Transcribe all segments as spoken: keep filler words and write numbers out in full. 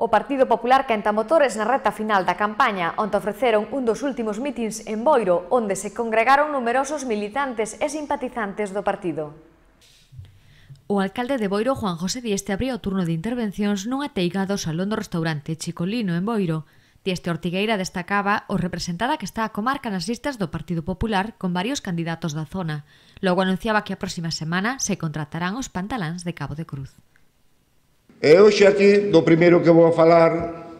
O Partido Popular quenta motores na reta final da campaña, onde ofreceron un dos últimos mítins en Boiro, onde se congregaron numerosos militantes e simpatizantes do partido. O alcalde de Boiro, Juan José Dieste, abriu o turno de intervencións nunha teiga do salón do restaurante Chicolino en Boiro. Dieste Ortigueira destacaba o representada que está a comarca nas listas do Partido Popular con varios candidatos da zona. Logo anunciaba que a próxima semana se contratarán os pantaláns de Cabo de Cruz. E hoxe aquí, do primeiro que vou a falar,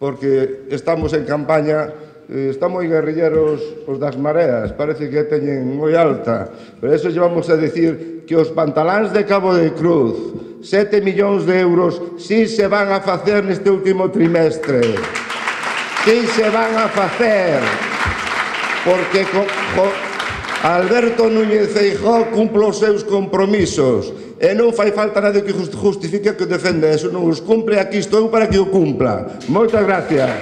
porque estamos en campaña, están moi guerrilleros os das mareas, parece que teñen moi alta, pero eso llevamos a decir que os pantaláns de Cabo de Cruz, sete millóns de euros, si se van a facer neste último trimestre. Si se van a facer, porque co, co, Alberto Núñez Feijóo cumple os seus compromisos e non fai falta nadie que justifique que defende eso, non os cumpre, aquí estou para que o cumpla. Moitas gracias.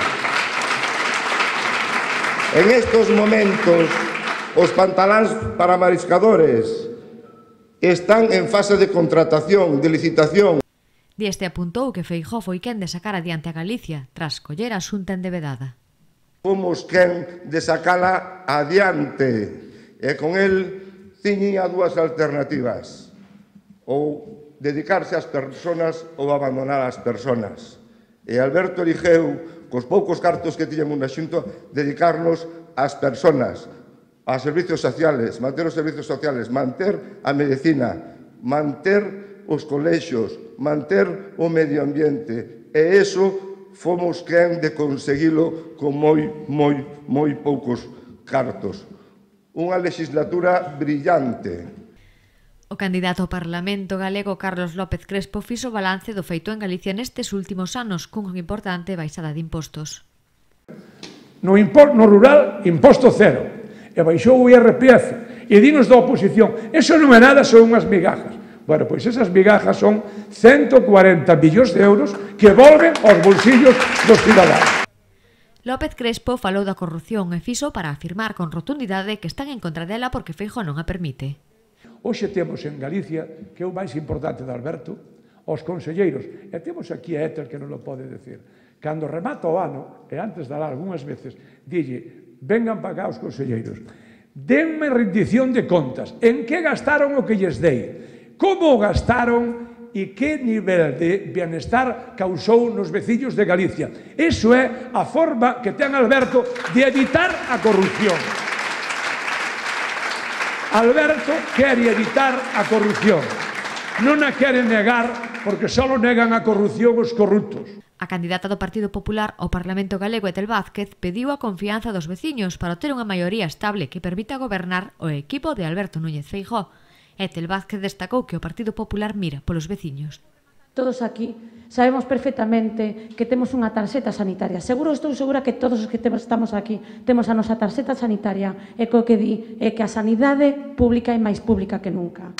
En estos momentos, os pantaláns para mariscadores están en fase de contratación, de licitación. Dieste apuntou que Feijóo foi quen de sacar adiante a Galicia tras coller a xunta endevedada. Fomos quen de sacala adiante e con el tiña dúas alternativas, ou dedicarse ás persoas ou abandonar as persoas. E Alberto eligeu, cos poucos cartos que tiñamos na xunta, dedicarnos ás persoas, aos servicios sociales, manter os servicios sociales, manter a medicina, manter os colexios, manter o medio ambiente, e iso fomos quen de conseguilo con moi, moi, moi poucos cartos. Unha legislatura brillante. O candidato ao Parlamento galego Carlos López Crespo fixo balance do feito en Galicia nestes últimos anos cunha importante baixada de impostos. No, no rural, imposto cero, e baixou o I R P F, e dinos da oposición, eso non é nada, son unhas migajas. Bueno, pois esas migajas son ciento cuarenta millóns de euros que volven aos bolsillos dos cidadanos. López Crespo falou da corrupción e fixo para afirmar con rotundidade que están en contra dela porque Feijóo non a permite. Hoxe temos en Galicia, que é o máis importante de Alberto, os conselleiros, e temos aquí a Éter que non o pode decir, cando remata o ano, e antes de dar algunhas veces, dille, vengan para cá os conselleiros, denme rendición de contas, en que gastaron o que lles dei, como o gastaron e que nivel de bienestar causou nos veciños de Galicia. Iso é a forma que ten Alberto de evitar a corrupción. Alberto quere evitar a corrupción. Non a quere negar porque só negan a corrupción os corruptos. A candidata do Partido Popular ao Parlamento galego, Etel Vázquez, pediu a confianza dos veciños para ter unha maioría estable que permita gobernar o equipo de Alberto Núñez Feijóo. Etel Vázquez destacou que o Partido Popular mira polos veciños. Todos aquí sabemos perfectamente que temos unha tarxeta sanitaria. Seguro, estou segura que todos os que estamos aquí temos a nosa tarxeta sanitaria e co que di é que a sanidade pública é máis pública que nunca.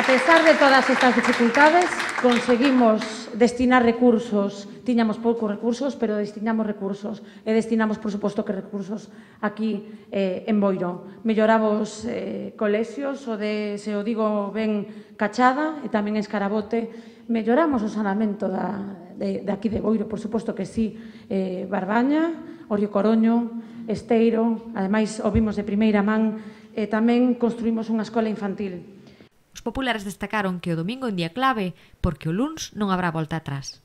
A pesar de todas estas dificultades, conseguimos destinar recursos, tiñamos poucos recursos, pero destinamos recursos, e destinamos, por suposto, que recursos aquí eh, en Boiro. Melloramos eh, colexios, o de, se o digo ben, Cachada, e tamén Escarabote, melloramos o saneamento da, de, de aquí de Boiro, por suposto que sí, eh, Barbaña, Orio Coroño, Esteiro, ademais o vimos de primeira man, e tamén construímos unha escola infantil. Os populares destacaron que o domingo é un día clave porque o luns non habrá volta atrás.